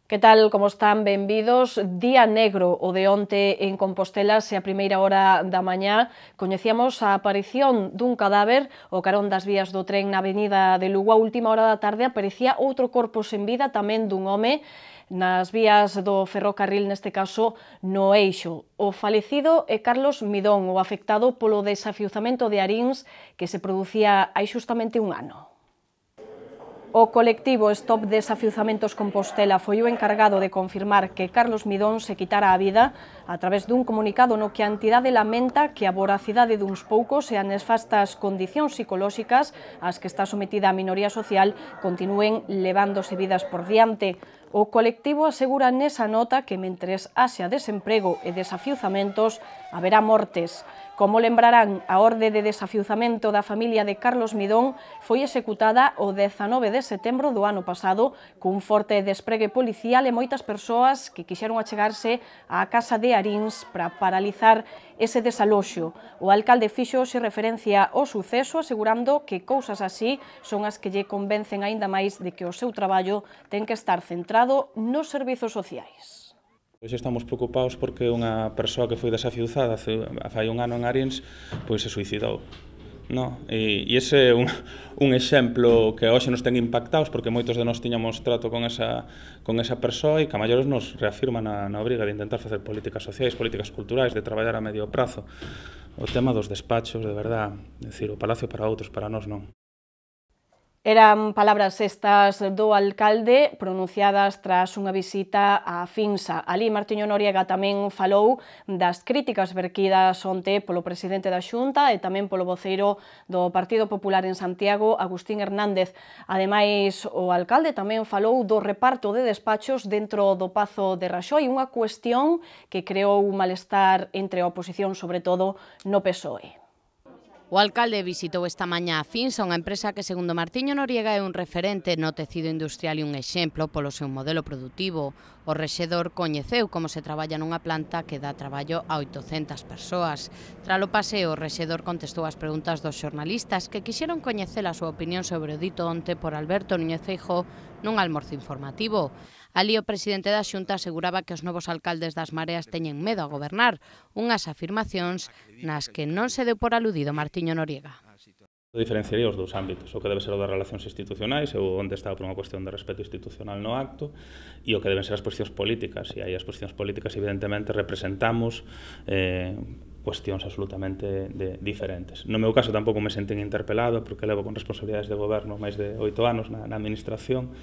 Que tal, como están? Benvidos. Día negro o de onte en Compostela, se a primeira hora da mañá coñecíamos a aparición dun cadáver ao carón das vías do tren na avenida de Lugo. A última hora da tarde aparecía outro corpo sen vida, tamén dun home, nas vías do ferrocarril, neste caso no Eixo. O falecido é Carlos Midón, o afectado polo desafiuzamento de Aríns que se producía hai xustamente un ano. O colectivo Stop Desafiuzamentos Compostela foi o encargado de confirmar que Carlos Midón se quitara a vida a través dun comunicado no que a entidade lamenta que a voracidade duns poucos e as nefastas condicións psicolóxicas ás que está sometida a minoría social continúen levándose vidas por diante. O colectivo asegura nesa nota que mentres haxa desemprego e desafiuzamentos haberá mortes. Como lembrarán, a orde de desafiuzamento da familia de Carlos Midón foi executada o 19 de setembro do ano pasado cun forte despregue policial e moitas persoas que quixeron achegarse á casa de Aríns para paralizar ese desaloxo. O alcalde fixo hoxe referencia ao suceso asegurando que cousas así son as que lle convencen aínda máis de que o seu traballo ten que estar centrado nos servizos sociais. Hoxe estamos preocupados porque unha persoa que foi desafiuzada fai un ano en Aríns pois se suicidou. No? E ese é un exemplo que hoxe nos ten impactados porque moitos de nós tiñamos trato con esa persoa e que a maiores nos reafirma na obriga de intentar facer políticas sociais, políticas culturais, de traballar a medio prazo. O tema dos despachos, de verdad, decir, o palacio para outros, para nós non. Eran palabras estas do alcalde pronunciadas tras unha visita á Finsa. Alí Martiño Noriega tamén falou das críticas verquidas onte polo presidente da Xunta e tamén polo voceiro do Partido Popular en Santiago, Agustín Hernández. Ademais, o alcalde tamén falou do reparto de despachos dentro do Pazo de Raxoi, unha cuestión que creou un malestar entre a oposición, sobre todo no PSOE. O alcalde visitou esta mañá a Finsa, unha empresa que, segundo Martiño Noriega, é un referente no tecido industrial e un exemplo polo seu modelo produtivo. O rexedor coñeceu como se traballa nunha planta que dá traballo a 800 persoas. Tralo paseo, o rexedor contestou as preguntas dos xornalistas que quixeron coñecer a súa opinión sobre o dito onte por Alberto Núñez Feijóo nun almorzo informativo. Alí o presidente da Xunta aseguraba que os novos alcaldes das Mareas teñen medo a gobernar, unhas afirmacións nas que non se deu por aludido Martiño Noriega. Diferenciaría os dous ámbitos, o que debe ser o das relacións institucionais, ou onde está por unha cuestión de respeto institucional no acto, e o que deben ser as posicións políticas. E aí as posicións políticas, evidentemente, representamos cuestións absolutamente diferentes. No meu caso tampouco me sentín interpelado, porque levo con responsabilidades de goberno máis de 8 anos na administración,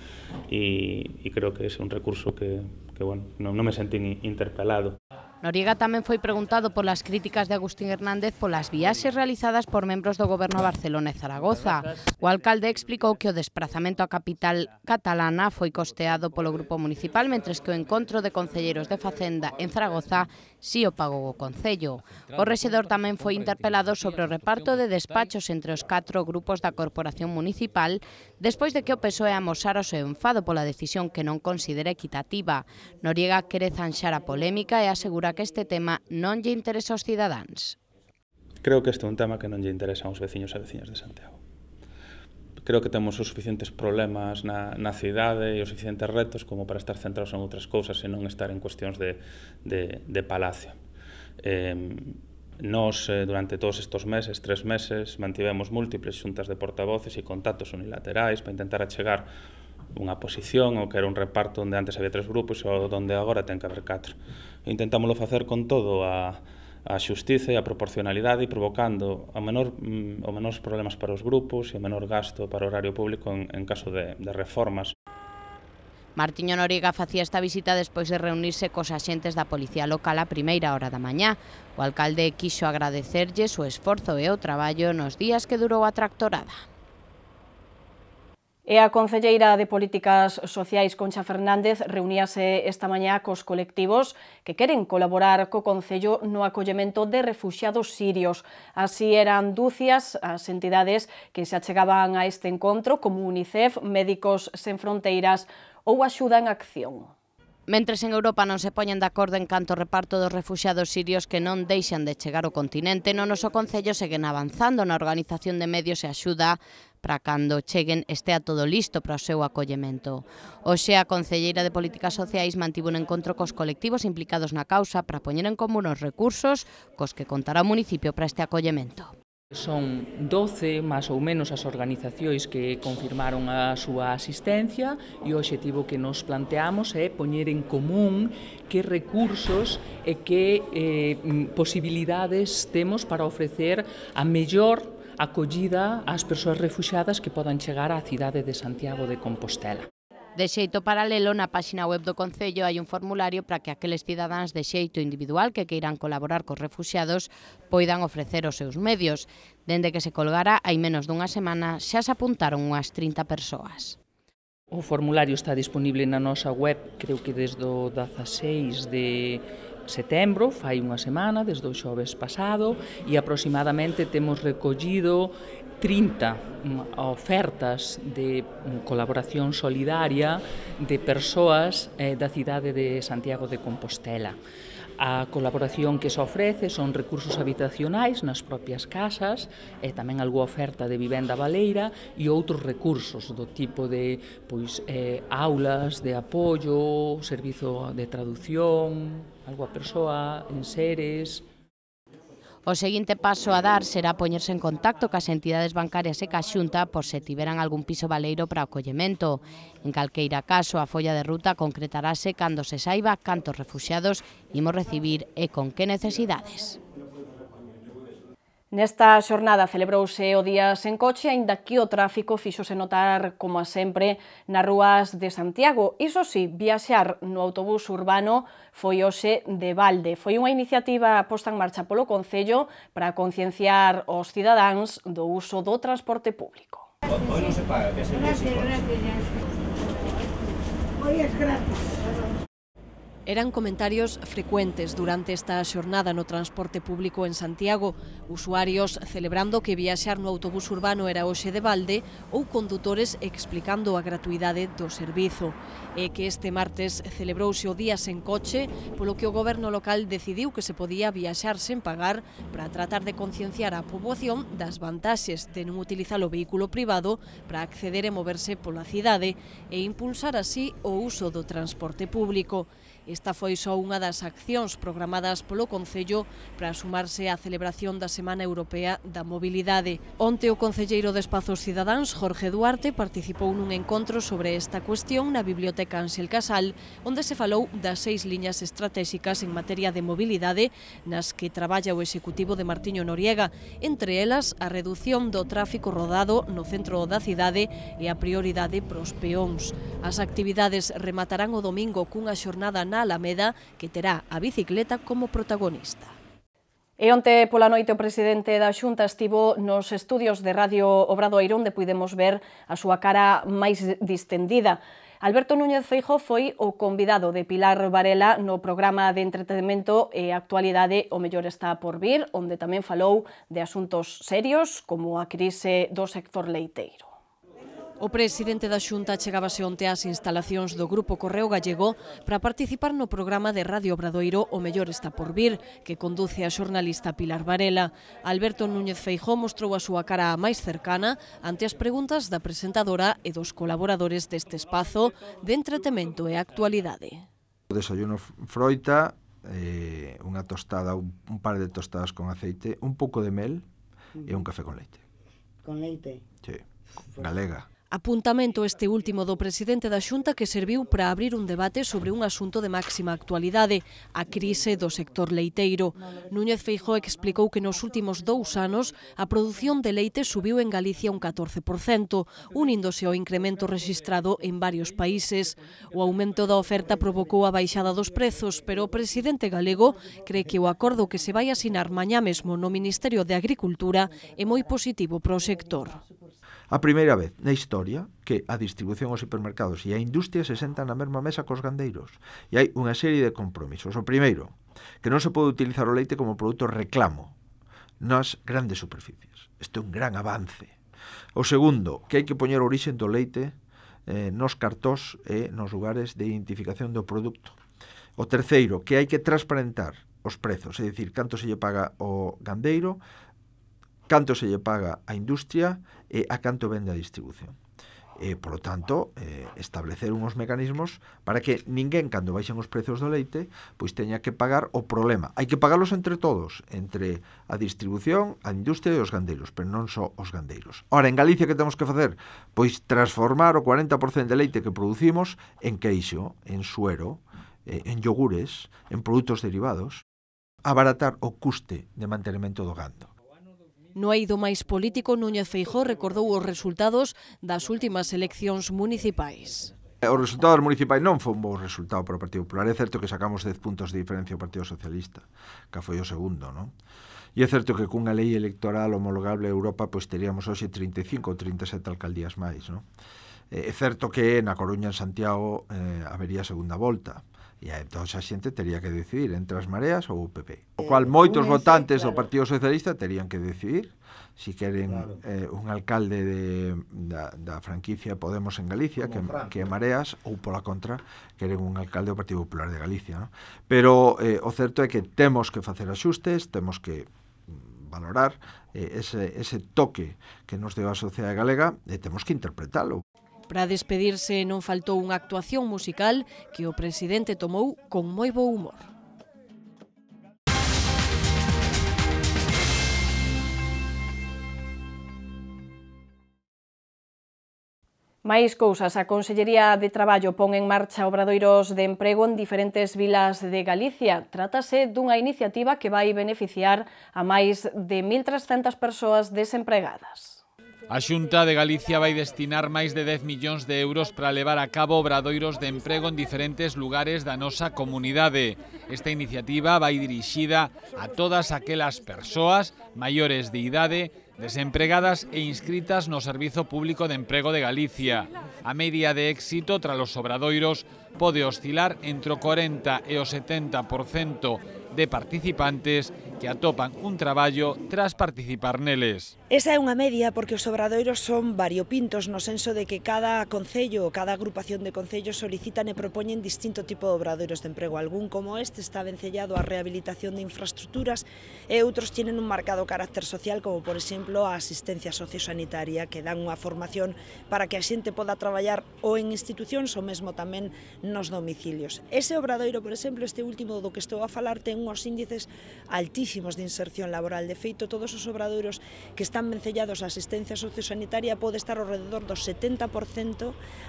e creo que ese é un recurso que bueno, non me sentín interpelado. Noriega tamén foi preguntado polas críticas de Agustín Hernández polas viaxes realizadas por membros do goberno a Barcelona e Zaragoza. O alcalde explicou que o desprazamento á capital catalana foi costeado polo grupo municipal, mentres que o encontro de concelleiros de Facenda en Zaragoza si o pagou o concello. O rexedor tamén foi interpelado sobre o reparto de despachos entre os 4 grupos da corporación municipal despois de que o PSOE amosara o seu enfado pola decisión que non considera equitativa. Noriega quere zanxar a polémica e asegura que este tema non lle interesa aos cidadáns. Creo que este é un tema que non lle interesa aos veciños e veciñas de Santiago. Creo que temos os suficientes problemas na cidade e os suficientes retos como para estar centrados en outras cousas e non estar en cuestións de palacio. Nós, durante todos estes meses, 3 meses, mantivemos múltiples xuntas de portavoces e contactos unilaterais para intentar achegar unha posición ou que era un reparto onde antes había 3 grupos ou onde agora ten que haber 4. Intentámoslo facer con todo a xustiza e a proporcionalidade e provocando os menores problemas para os grupos e o menor gasto para o horario público en caso de reformas. Martiño Noriega facía esta visita despois de reunirse cos axentes da Policía Local a primeira hora da mañá. O alcalde quixo agradecerlles o esforzo e o traballo nos días que durou a tractorada. E a concelleira de Políticas Sociais, Concha Fernández, reuníase esta mañá cos colectivos que queren colaborar co Concello no acollemento de refuxiados sirios. Así eran dúcias as entidades que se achegaban a este encontro, como UNICEF, Médicos Sen Fronteiras ou Axuda en Acción. Mentres en Europa non se poñen de acordo en canto ao reparto dos refuxiados sirios que non deixan de chegar ao continente, no noso concello seguen avanzando na organización de medios e axuda para cando cheguen estea todo listo para o seu acollemento. Hoxe a concelleira de Políticas Sociais mantivo un encontro cos colectivos implicados na causa para poñer en común os recursos cos que contará o municipio para este acollemento. Son 12, máis ou menos, as organizacións que confirmaron a súa asistencia e o obxectivo que nos planteamos é poñer en común que recursos e que posibilidades temos para ofrecer a mellor acollida ás persoas refuxiadas que podan chegar á cidade de Santiago de Compostela. De xeito paralelo, na páxina web do Concello hai un formulario para que aqueles cidadáns de xeito individual que queiran colaborar cos refuxiados poidan ofrecer os seus medios. Dende que se colgara, hai menos dunha semana, xa se apuntaron unhas 30 persoas. O formulario está disponible na nosa web, creo que desde o 16 de setembro, fai unha semana, desde o xoves pasado, e aproximadamente temos recollido 30 ofertas de colaboración solidaria de persoas da cidade de Santiago de Compostela. A colaboración que se ofrece son recursos habitacionais nas propias casas e tamén algunha oferta de vivenda baleira e outros recursos do tipo de aulas de apoio, servizo de traducción, algunha persoa en seres. O seguinte paso a dar será poñerse en contacto cas entidades bancarias e ca Xunta por se tiveran algún piso baleiro para acollemento. En calqueira caso, a folla de ruta concretarase cando se saiba cantos refuxiados imos recibir e con que necesidades. Nesta xornada celebrouse o Día sen coche, aínda que o tráfico fíxose notar, como a sempre, nas rúas de Santiago. Iso sí, viaxar no autobús urbano foi hoxe de balde. Foi unha iniciativa posta en marcha polo Concello para concienciar os cidadáns do uso do transporte público. Hoy non se paga, que se gracias. Hoy es gratis. Eran comentarios frecuentes durante esta xornada no transporte público en Santiago, usuarios celebrando que viaxar no autobús urbano era hoxe de balde ou condutores explicando a gratuidade do servizo. E que este martes celebrouse o Día sen coche, polo que o goberno local decidiu que se podía viaxar sen pagar para tratar de concienciar a poboación das vantaxes de non utilizar o vehículo privado para acceder e moverse pola cidade e impulsar así o uso do transporte público. Esta foi só unha das accións programadas polo Concello para sumarse á celebración da Semana Europea da Mobilidade. Onte o concelleiro de Espazos Cidadáns, Jorge Duarte, participou nun encontro sobre esta cuestión na Biblioteca Ángel Casal, onde se falou das 6 liñas estratégicas en materia de mobilidade nas que traballa o executivo de Martiño Noriega, entre elas a redución do tráfico rodado no centro da cidade e a prioridade pros peóns. As actividades rematarán o domingo cunha xornada na Alameda que terá a bicicleta como protagonista. E onte pola noite o presidente da Xunta estivo nos estudios de Radio Obradoiro onde puidemos ver a súa cara máis distendida. Alberto Núñez Feijóo foi o convidado de Pilar Varela no programa de entretenimento e actualidade O Mellor está por vir, onde tamén falou de asuntos serios como a crise do sector leiteiro. O presidente da Xunta chegábase onte ás instalacións do Grupo Correo Gallego para participar no programa de Radio Obradoiro O Mellor está por vir, que conduce a xornalista Pilar Varela. Alberto Núñez Feijóo mostrou a súa cara máis cercana ante as preguntas da presentadora e dos colaboradores deste espazo de entretemento e actualidade. O desayuno froita, unha tostada, un par de tostadas con aceite, un pouco de mel e un café con leite. Con leite? Sí, galega. Apuntamento este último do presidente da Xunta que serviu para abrir un debate sobre un asunto de máxima actualidade, a crise do sector leiteiro. Núñez Feijóo explicou que nos últimos 2 anos a produción de leite subiu en Galicia un 14%, uníndose ao incremento rexistrado en varios países. O aumento da oferta provocou a baixada dos prezos, pero o presidente galego cree que o acordo que se vai asinar mañá mesmo no Ministerio de Agricultura é moi positivo para o sector. A primeira vez na historia que a distribución aos supermercados e a industria se sentan na mesma mesa cos gandeiros. E hai unha serie de compromisos. O primeiro, que non se pode utilizar o leite como produto reclamo nas grandes superficies. Isto é un gran avance. O segundo, que hai que poñer a orixe do leite nos cartós e nos lugares de identificación do produto. O terceiro, que hai que transparentar os prezos, é dicir, canto se lle paga ao gandeiro, canto se lle paga á industria e a canto vende a distribución. Por lo tanto, establecer uns mecanismos para que ninguén, cando baixen os prezos do leite, pois teña que pagar o problema. Hai que pagalos entre todos, entre a distribución, a industria e os gandeiros, pero non só os gandeiros. Ora, en Galicia, que temos que facer? Pois transformar o 40% de leite que producimos en queixo, en suero, en yogures, en produtos derivados, abaratar o custe de mantenimento do gando. No eido máis político, Núñez Feijóo recordou os resultados das últimas eleccións municipais. O resultado das municipais non foi un bo resultado para o Partido Popular. É certo que sacamos 10 puntos de diferencia ao Partido Socialista, que foi o segundo, non? E é certo que cunha lei electoral homologable a Europa, pois teríamos hoxe 35 ou 37 alcaldías máis, non? É certo que na Coruña, en Santiago, habería segunda volta. E entón a xente tería que decidir entre as Mareas ou o PP. O cual moitos votantes do Partido Socialista terían que decidir si queren un alcalde da franquicia Podemos en Galicia, que é Mareas, ou pola contra, queren un alcalde do Partido Popular de Galicia, non? Pero o certo é que temos que facer axustes, temos que valorar ese toque que nos deu a sociedade galega e temos que interpretalo. Para despedirse non faltou unha actuación musical que o presidente tomou con moi bo humor. Máis cousas, a Consellería de Traballo pon en marcha obradoiros de emprego en diferentes vilas de Galicia. Trátase dunha iniciativa que vai beneficiar a máis de 1.300 persoas desempregadas. A Xunta de Galicia vai destinar máis de 10 millóns de euros para levar a cabo obradoiros de emprego en diferentes lugares da nosa comunidade. Esta iniciativa vai dirixida a todas aquelas persoas maiores de idade desempregadas e inscritas no Servizo Público de Emprego de Galicia. A media de éxito tras os obradoiros pode oscilar entre o 40 e o 70% de participantes que atopan un traballo tras participar neles. Esa é unha media porque os obradoiros son variopintos no senso de que cada concello ou cada agrupación de concellos solicitan e propoñen distinto tipo de obradoiros de emprego. Algún como este está vencellado á rehabilitación de infraestructuras e outros tienen un marcado carácter social como por exemplo a asistencia sociosanitaria que dan unha formación para que a xente poda traballar ou en institucións ou mesmo tamén nos domicilios. Ese obradoiro, por exemplo, este último do que estou a falar, ten uns índices altísimos de inserción laboral. De feito, todos os obradoiros que están vencellados a asistencia sociosanitaria pode estar ao redor do 70%.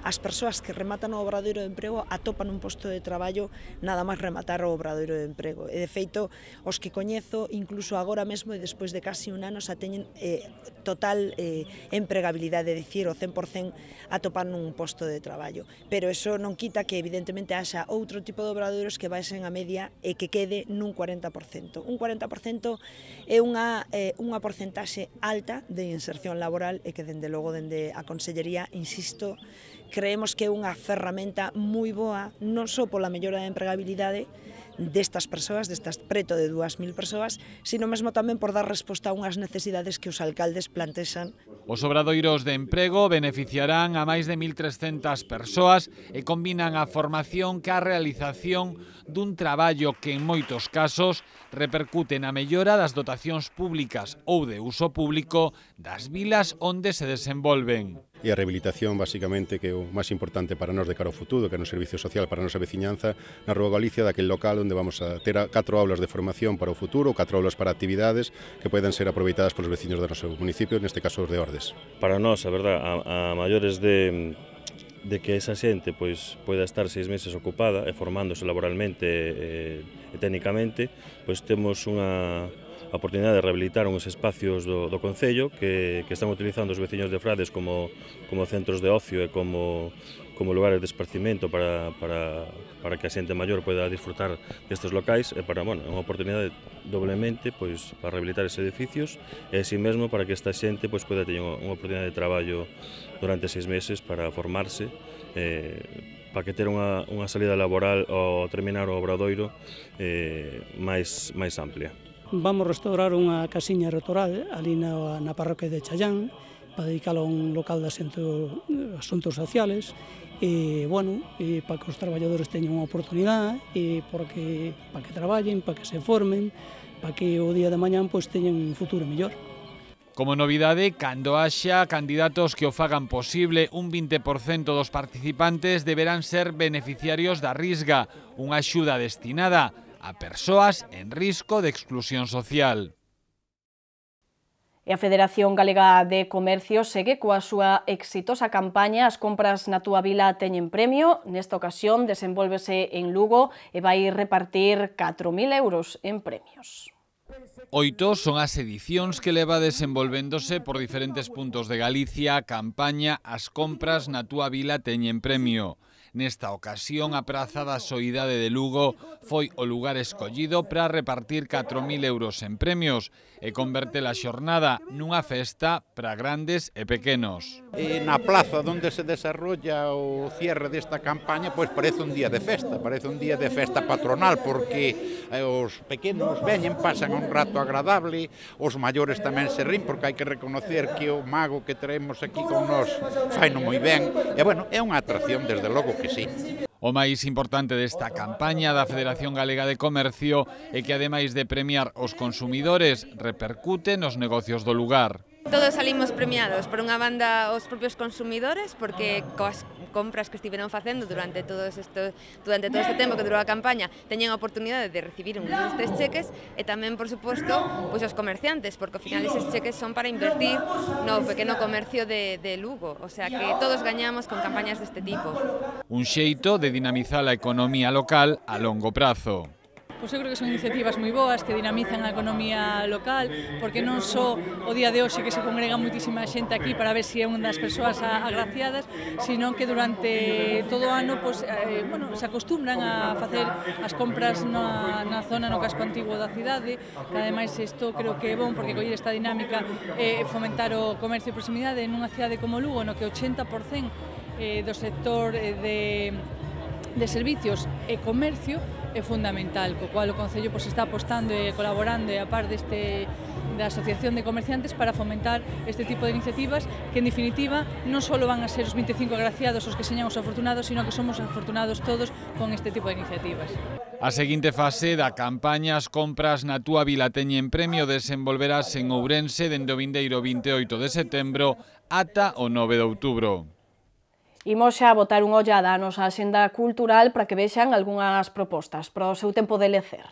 As persoas que rematan o obradoiro de emprego atopan un posto de traballo nada máis rematar o obradoiro de emprego. E de feito, os que coñezo, incluso agora mesmo e despois de casi un ano, xa teñen total empregabilidade, é dicir, o 100% atopan un posto de traballo. Pero eso non quita que evidentemente haxa outro tipo de obradoiros que baixen a media e que quede nun 40%. Un 40% é unha porcentaxe alta de inserción laboral e que, dende logo, dende a Consellería, insisto, creemos que é unha ferramenta moi boa, non só pola mellora da empregabilidade destas persoas, destas preto de 2.000 persoas, sino mesmo tamén por dar resposta a unhas necesidades que os alcaldes plantexan. Os obradoiros de emprego beneficiarán a máis de 1.300 persoas e combinan a formación ca realización dun traballo que en moitos casos repercute na mellora das dotacións públicas ou de uso público das vilas onde se desenvolven. E a rehabilitación, basicamente, que é o máis importante para nós de cara ao futuro, que é no servicio social para a nosa veciñanza, na Rúa Galicia, daquel local onde vamos a ter 4 aulas de formación para o futuro, 4 aulas para actividades que poden ser aproveitadas polos veciños do noso municipio, neste caso os de Ordes. Para nós, a verdad, a maiores de que esa xente pois poida estar 6 meses ocupada e formándose laboralmente e técnicamente, pois temos unha oportunidade de rehabilitar uns espacios do Concello que están utilizando os veciños de Frades como centros de ocio e como lugares de esparcimento para que a xente maior poida disfrutar destes locais e para, bueno, unha oportunidade doblemente pois para rehabilitar eses edificios e así mesmo para que esta xente pois poida ter unha oportunidade de traballo durante 6 meses para formarse para que ter unha salida laboral ao terminar o obradoiro máis amplia. Vamos restaurar unha casiña rural ali na parroquia de Challán para dedicalo a un local de asuntos sociales, para que os traballadores teñan unha oportunidade, para que traballen, para que se formen, para que o día de mañán teñan un futuro mellor. Como novidade, cando haxa candidatos que o fagan posible, un 20% dos participantes deberán ser beneficiarios da Risga, unha axuda destinada a persoas en risco de exclusión social. E a Federación Galega de Comercio segue coa súa exitosa campaña As compras na túa vila teñen premio. Nesta ocasión desenvólvese en Lugo e vai repartir 4.000 euros en premios. 8 son as edicións que leva desenvolvéndose por diferentes puntos de Galicia a campaña As compras na túa vila teñen premio. Nesta ocasión, a Praza da Soidade de Lugo foi o lugar escollido para repartir 4.000 euros en premios e converte a xornada nunha festa para grandes e pequenos. Na plaza onde se desarrolla o cierre desta campaña, parece un día de festa patronal, porque os pequenos veñen, pasan un rato agradable, os maiores tamén se rin, porque hai que reconocer que o mago que traemos aquí con nós faino moi ben, e é unha atracción desde logo que sí. O máis importante desta campaña da Federación Galega de Comercio é que, ademais de premiar os consumidores, repercute nos negocios do lugar. Todos salimos premiados, por unha banda os propios consumidores, porque coas compras que estiveron facendo durante todo este tempo que durou a campaña teñen a oportunidade de recibir un destes cheques, e tamén, por suposto, os comerciantes, porque ao final eses cheques son para invertir no pequeno comercio de Lugo, o sea que todos gañamos con campañas deste tipo. Un xeito de dinamizar a economía local a longo prazo. Pois eu creo que son iniciativas moi boas que dinamizan a economía local, porque non só o día de hoxe que se congrega moitísima xente aquí para ver se é unha das persoas agraciadas, sino que durante todo o ano se acostumbran a facer as compras na zona, no casco antigo da cidade, que ademais isto creo que é bon porque coller esta dinámica e fomentar o comercio de proximidade nunha cidade como Lugo, no que o 80% do sector de servicios e comercio é fundamental, co cual o Concello está apostando e colaborando a par da Asociación de Comerciantes para fomentar este tipo de iniciativas que, en definitiva, non só van a ser os 25 agraciados os que señan os afortunados, sino que somos afortunados todos con este tipo de iniciativas. A seguinte fase da campaña As compras na túa vila teñen premio desenvolverase en Ourense dende o vindeiro 28 de setembro ata o 9 de outubro. Imos xa botar unha ollada á nosa axenda cultural para que vexan algunhas propostas para o seu tempo de lecer.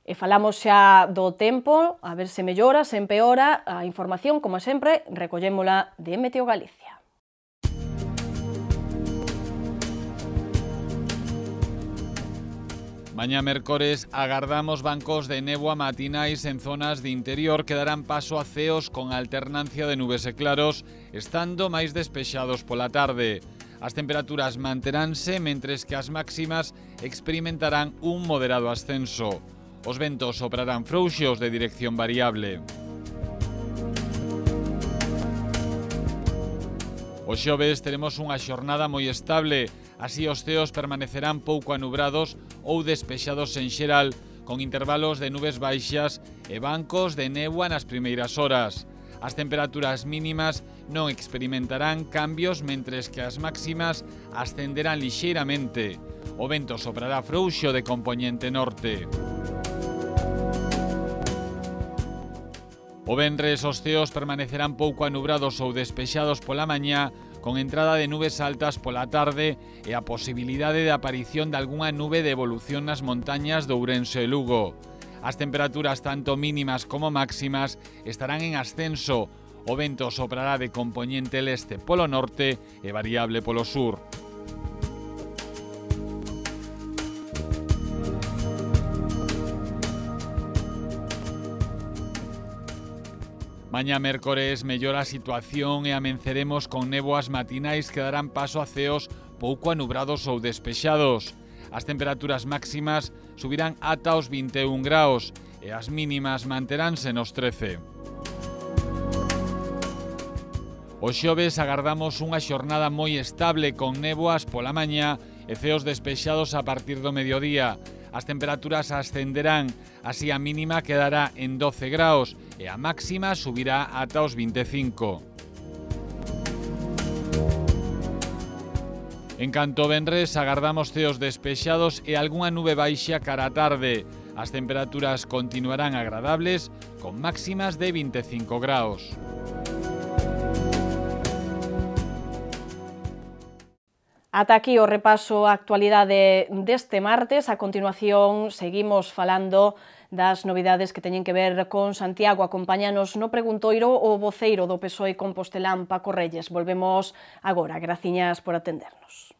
E falamos xa do tempo, a ver se mellora, se empeora. A información, como sempre, recollémola de Meteo Galicia. Mañá mércores agardamos bancos de néboa matinais en zonas de interior que darán paso a ceos con alternancia de nubes e claros, estando máis despexados pola tarde. As temperaturas manteránse, mentres que as máximas experimentarán un moderado ascenso. Os ventos soprarán frouxos de dirección variable. O xoves teremos unha xornada moi estable, así os ceos permanecerán pouco anubrados ou despexados en xeral, con intervalos de nubes baixas e bancos de néboa nas primeiras horas. As temperaturas mínimas non experimentarán cambios, mentres que as máximas ascenderán lixeiramente. O vento soprará frouxo de compoñente norte. O venres os ceos permanecerán pouco anubrados ou despexados pola mañá, con entrada de nubes altas pola tarde e a posibilidade de aparición de algunha nube de evolución nas montañas de Ourense e Lugo. As temperaturas tanto mínimas como máximas estarán en ascenso. O vento soprará de compoñente leste polo norte e variable polo sur. Mañá mércores mellora a situación e amenceremos con néboas matinais que darán paso a ceos pouco anubrados ou despexados. As temperaturas máximas subirán ata os 21 graus e as mínimas manteránse nos 13. O xoves agardamos unha xornada moi estable con néboas pola mañá e ceos despexados a partir do mediodía. As temperaturas ascenderán, así a mínima quedará en 12 graus e a máxima subirá ata os 25. En canto venres agardamos ceos despexados e algunha nube baixa cara a tarde. As temperaturas continuarán agradables con máximas de 25 graus. Ata aquí o repaso á actualidade deste martes. A continuación seguimos falando das novidades que teñen que ver con Santiago. Acompáñanos no preguntoiro o voceiro do PSOE compostelán, Paco Reyes. Volvemos agora. Graciñas por atendernos.